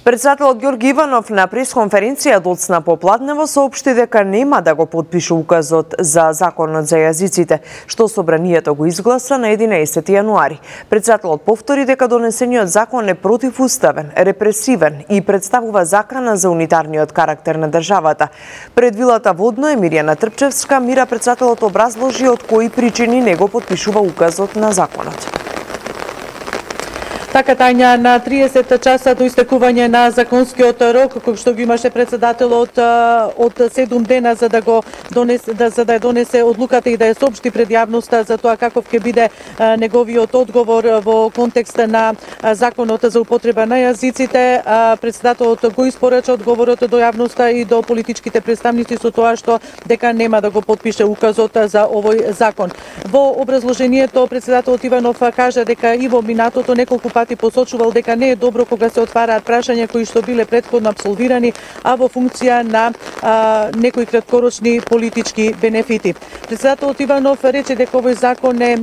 Председателот Ѓорги Иванов на пресконференција доцна попладнево соопшти дека нема да го подпише указот за законот за јазиците, што собранието го изгласа на 11 јануари. Председателот повтори дека донесениот закон е противуставен, репресивен и представува закана за унитарниот карактер на државата. Пред вилата Водно Емирјана Трпчевска, Мира председателот образложи од кои причини не го подпишува указот на законот. Така, Тања, на 30 часа до истекување на законскиот рок, кој што го имаше председателот од 7 дена за да ја донесе одлуката и да ја соопшти пред јавноста за тоа каков ќе биде неговиот одговор во контекст на законот за употреба на јазиците, председателот го испорача одговорот до јавноста и до политичките представници со тоа што дека нема да го подпише указот за овој закон. Во образложението председателот Иванов кажа дека и во минатото неколку пати посочувал дека не е добро кога се отвараат прашања кои што биле претходно апсолвирани, а во функција на некои краткорочни политички бенефити. Председателот Иванов рече дека овој закон е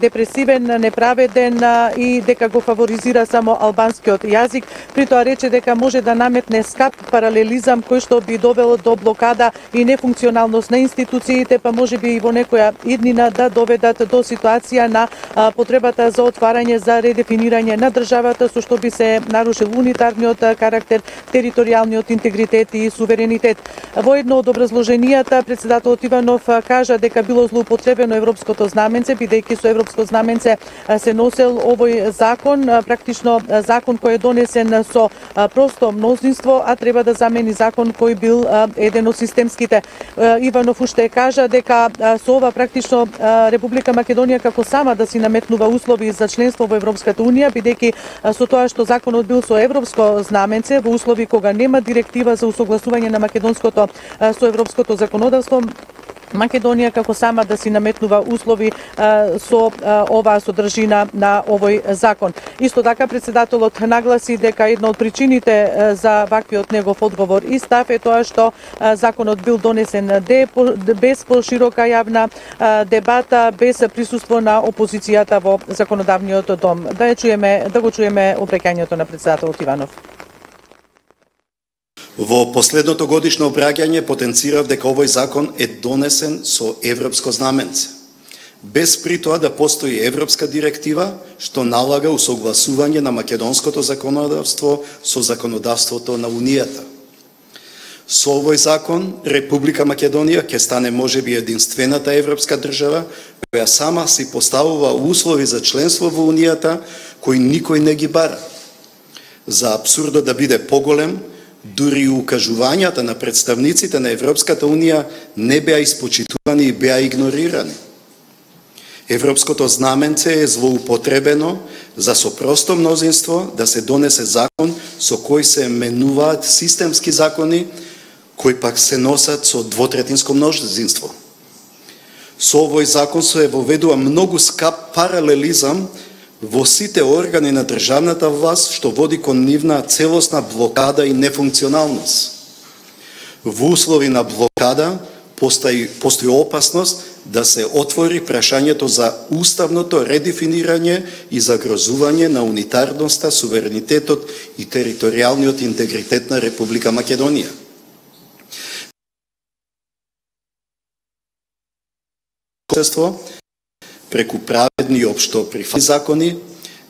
депресивен, неправеден и дека го фаворизира само албанскиот јазик. При тоа рече дека може да наметне скап паралелизам кој што би довел до блокада и нефункционалност на институциите, па може би и во некоја иднина да доведат до ситуација на потребата за отварање за редефинирање на државата, со што би се нарушил унитарниот карактер, територијалниот интегритет и суверенитет. Во едно од образложенијата председателот Иванов кажа дека било злоупотребено европското знаменце, бидејќи со европско знаменце се носел овој закон, практично закон кој е донесен со просто мнозинство, а треба да замени закон кој бил еден од системските. Иванов уште кажа дека со ова практично Република Македонија како сама да си наметнува услови за членство во Европската унија, бидејќи со тоа што законот бил со европско знаменце во услови кога нема директива за усогласување на македонското со европското законодавство, Македонија како сама да си наметнува услови со оваа содржина на овој закон. Исто така председателот нагласи дека една од причините за ваквиот негов одговор и став е тоа што законот бил донесен без поширока јавна дебата, без присуство на опозицијата во законодавниот дом. Да го чуеме обраќањето на председателот Иванов. Во последното годишно обраќање потенцирав дека овој закон е донесен со европско знаменце, без при тоа да постои европска директива што налага усогласување на македонското законодавство со законодавството на Унијата. Со овој закон Република Македонија ќе стане можеби единствената европска држава која сама си поставува услови за членство во Унијата кои никој не ги бара. За апсурдот да биде поголем, дури и укажувањата на представниците на Европската Унија не беа испочитувани и беа игнорирани. Европското знаменце е злоупотребено за со просто мнозинство да се донесе закон со кој се менуваат системски закони кои пак се носат со двотретинско мнозинство. Со овој закон се воведува многу скап паралелизам во сите органи на државната власт, што води кон нивна целосна блокада и нефункционалност. Во услови на блокада постои опасност да се отвори прашањето за уставното редефинирање и загрозување на унитарноста, суверенитетот и територијалниот интегритет на Република Македонија. Преку праведни и општо прифатни закони,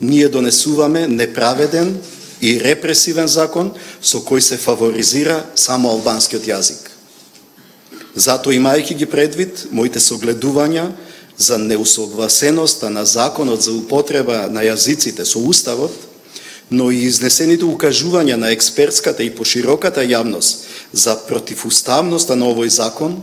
ние донесуваме неправеден и репресивен закон со кој се фаворизира само албанскиот јазик. Затоа, имајќи ги предвид моите согледувања за неусогласеноста на законот за употреба на јазиците со Уставот, но и изнесените укажувања на експертската и пошироката јавност за противуставноста на овој закон,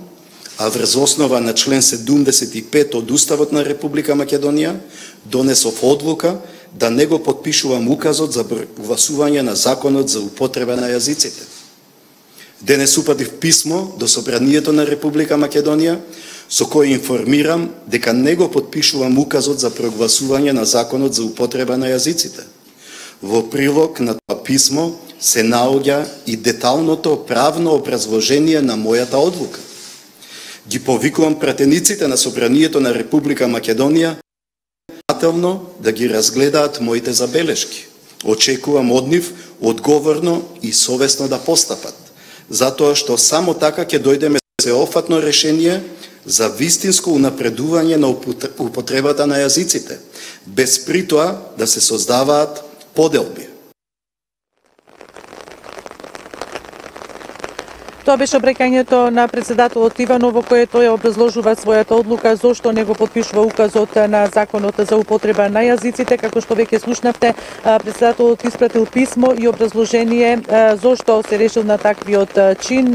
а врз основа на член 75 од Уставот на Република Македонија, донесов одлука да не го подпишувам указот за гласување на законот за употреба на јазиците. Денес упатив писмо до Собранието на Република Македонија, со кој информирам дека не го подпишувам указот за прогласување на законот за употреба на јазиците. Во прилог на тоа писмо се наоѓа и деталното правно образложение на мојата одлука. Ги повикувам пратениците на Собранието на Република Македонија да ги разгледаат моите забелешки. Очекувам од нив одговорно и совесно да постапат, затоа што само така ќе дојдеме до сеопфатно решение за вистинско унапредување на употребата на јазиците, без при тоа да се создаваат поделби. Тоа беше обраќањето на председателот Иванов, во кое тој образложува својата одлука зошто не го потпишува указот на законот за употреба на јазиците. Како што веќе слушнавте, председателот испратил писмо и образложение зошто се решил на таквиот чин.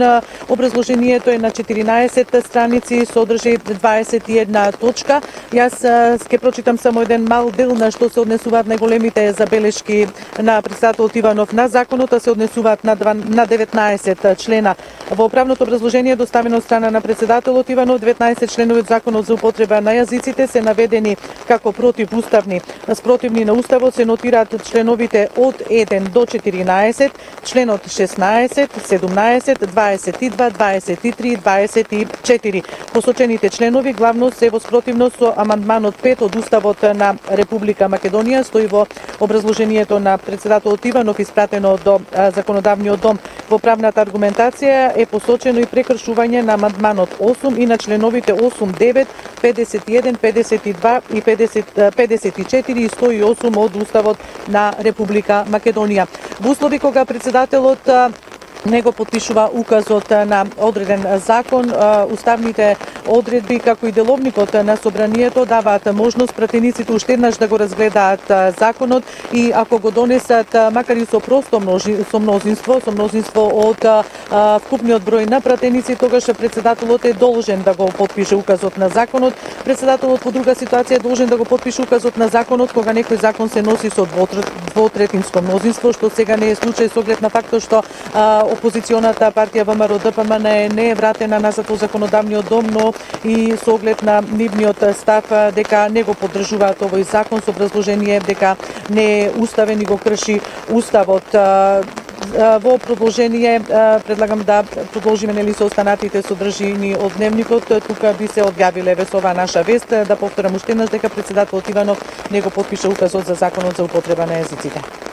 Образложението е на 14 страници, содржи 21 точка. Јас ќе прочитам само еден мал дел на што се однесуваат најголемите забелешки на председателот Иванов на законот, а се однесуваат на 19 члена. Во правното образложение доставено од страна на председателот Иванов, 19 членови од законот за употреба на јазиците се наведени како противуставни. Спротивни на уставот се нотираат членовите од 1 до 14, членот 16, 17, 22, 23 и 24. Посочените членови главно се во спротивност со амандманот 5 од Уставот на Република Македонија, стои во образложението на председателот Иванов испратено до Законодавниот дом. Во правната аргументација е посочено и прекршување на амандманот 8 и на членовите 8, 9, 51, 52 и 54 и 108 од Уставот на Република Македонија. Во услови кога председателот не го потпишува указот на одреден закон, уставните одредби како и деловникот на собранието даваат можност пратениците уште еднаш да го разгледаат законот и ако го донесат макар и со просто мнозинство од вкупниот број на пратеници, тогаш председателот е должен да го потпише указот на законот. Председателот во друга ситуација е должен да го потпише указот на законот кога некој закон се носи со двотретинско мнозинство, што сега не е случај со оглед на фактот што опозиционата партија ВМРО-ДПМН не е вратена назад во законодавниот дом, но и со оглед на нивниот став дека не го поддржуваат овој закон со образложение дека не е уставен и го крши уставот. Во продолжение предлагам да продолжиме со останатите содржини од дневникот. Тука би се одјавиле со оваа наша вест. Да повторам уште еднаш дека председателот Иванов не го потпиша указот за законот за употреба на јазиците.